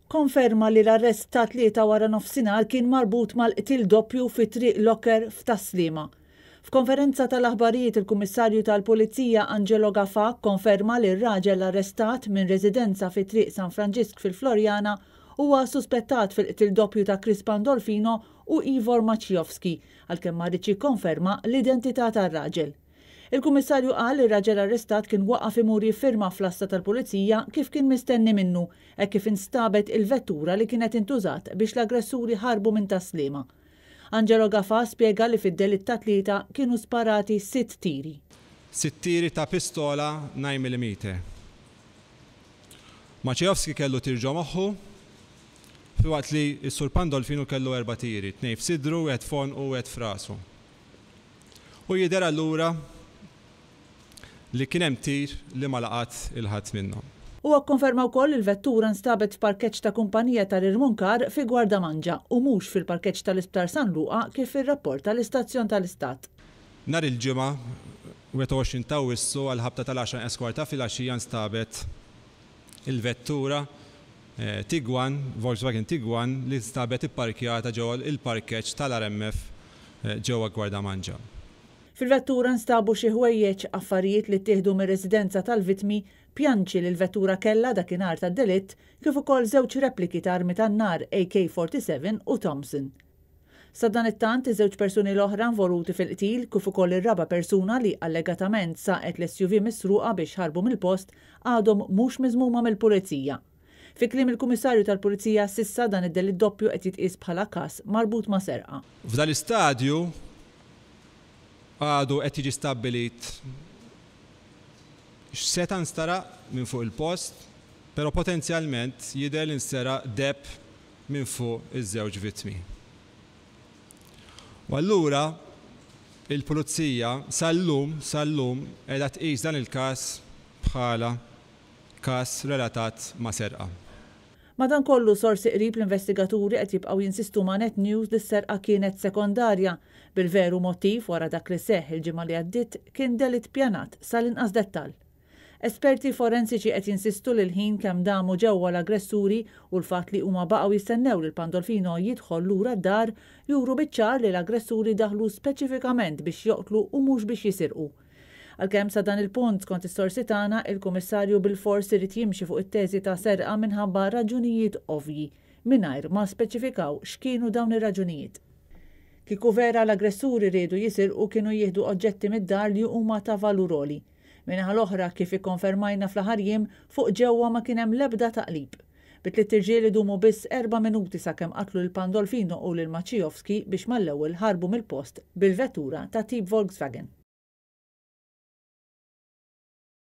Konferma li l-arrest tat-Tlieta waranofsinhar kien marbut mal-qtil doppju fi Triq Locker f'Tas-Sliema. F'konferenza tal-aħbarijiet il-Kummissarju tal-Pulizija Angelo Gafà kkonferma li r-raġel arrestat minn residenza fi Triq San Franġisk fil-Floriana huwa suspettat fil-qtil doppju ta' Chris Pandolfino u Ivor Maciejowski għalkemm ma riedx jikkonferma l-identità tar-raġel. Il-Kummissarju qal li r-raġel arrestat kien waqaf imur jiffirma fl-għassa tal-Pulizija kif kien mistenni minnu hekk kif instabet il-vettura li kienet intużat biex l-aggressuri ħarbu minn Tas-Sliema. Angelo Gafà spjega li fid-delitt tat-Tlieta kienu sparati sitt tiri. Sitt tiri ta' pistola 9 millimeter. Maciejowski kellu tir ġo moħħu, filwaqt li s-Sur Pandolfino kellu erba' tiri, tnejn f'sidru, wieħed f'għonqu u wieħed f'rasu. U jidher allura li kien hemm tir li ma laqat 'il ħadd minnhom. Huwa kkonferma wkoll li l-vettura nstabet f'parkeġġ ta' kumpanija tal-irmunkar fi Gwardamanġa u mhux fil-parkeġġ tal-Isptar San Luqa kif irrapporta l-istazzjon tal-Istat. Nhar il-Ġimgħa, 21 t'Awwissu għall-ħabta tal-għaxra inqas kwart ta' filgħaxija nstabet il-vettura Tiguan, Volkswagen Tiguan li nstabet ipparkjata ġewwa l-parkeġġ tal-RMF ġewwa Gwardamanġa. Fil-vettura nstabu xi ħwejjeġ, affarijiet li ttieħdu mir-residenza tal-vittmi, pjanċi li l-vettura kellha dakinhar tad-delitt, kif ukoll żewġ repliki ta' armi tan-nar AK-47 u Thompson. Sadanittant, iż-żewġ persuni l-oħra involuti fil-qtil, kif ukoll ir-raba' persuna li allegatament saqet l-SUV misruqa biex ħarbu mill-post, għadhom mhux miżmuma mill-Pulizija. Fi kliem il-Kummissarju tal-Pulizija, s'issa dan id-delitt doppju qed jitqies bħala każ marbut ma' serqa. F'dan l-istadju għadu qed jiġi stabbilit x'seta' nsteraq minn fuq il-post, però potenzjalment jidher li nsteraq deheb minn fuq iż-żewġ vittmi. U allura il-Pulizija sal-lum, sal-lum qiegħda tqis dan il-każ bħala każ relatat ma' serqa. Madankollu, sorsi qrib l-investigaturi qed jibqgħu jinsistu ma' Net News li s-serqa kienet sekondarja, bil-veru mottiv wara dak li seħħ il-ġimgħa li għaddiet kien delitt pjanat sal-inqas dettall. Esperti forensiċi qed jinsistu li l-ħin kemm damu ġewwa l-aggressuri u l-fatt li huma baqgħu jistennew lil Pandolfino jidħol lura d-dar juru biċ-ċar li l-aggressuri daħlu speċifikament biex joqtlu u mhux biex jisirqu. Għalkemm sa dan il-punt, skont is-sorsi tagħna, il-Kummissarju bilfors irid jimxi fuq it-teżi ta' serqa minħabba raġunijiet ovvji, mingħajr ma speċifikaw x'kienu dawn ir-raġunijiet. Kieku vera l-aggressuri riedu jisirqu kienu jieħdu oġġetti mid-dar li huma ta' valur għoli. Min-naħa l-oħra, kif ikkonfermajna fl-aħħar jiem, fuq ġewwa ma kien hemm l-ebda taqlib. Bit-tlitt irġiel idumu biss erba' minuti sakemm qatlu lil Pandolfino u lil Maciejowski biex mal-ewwel ħarbu mill-post bil-vettura ta' tip Volkswagen.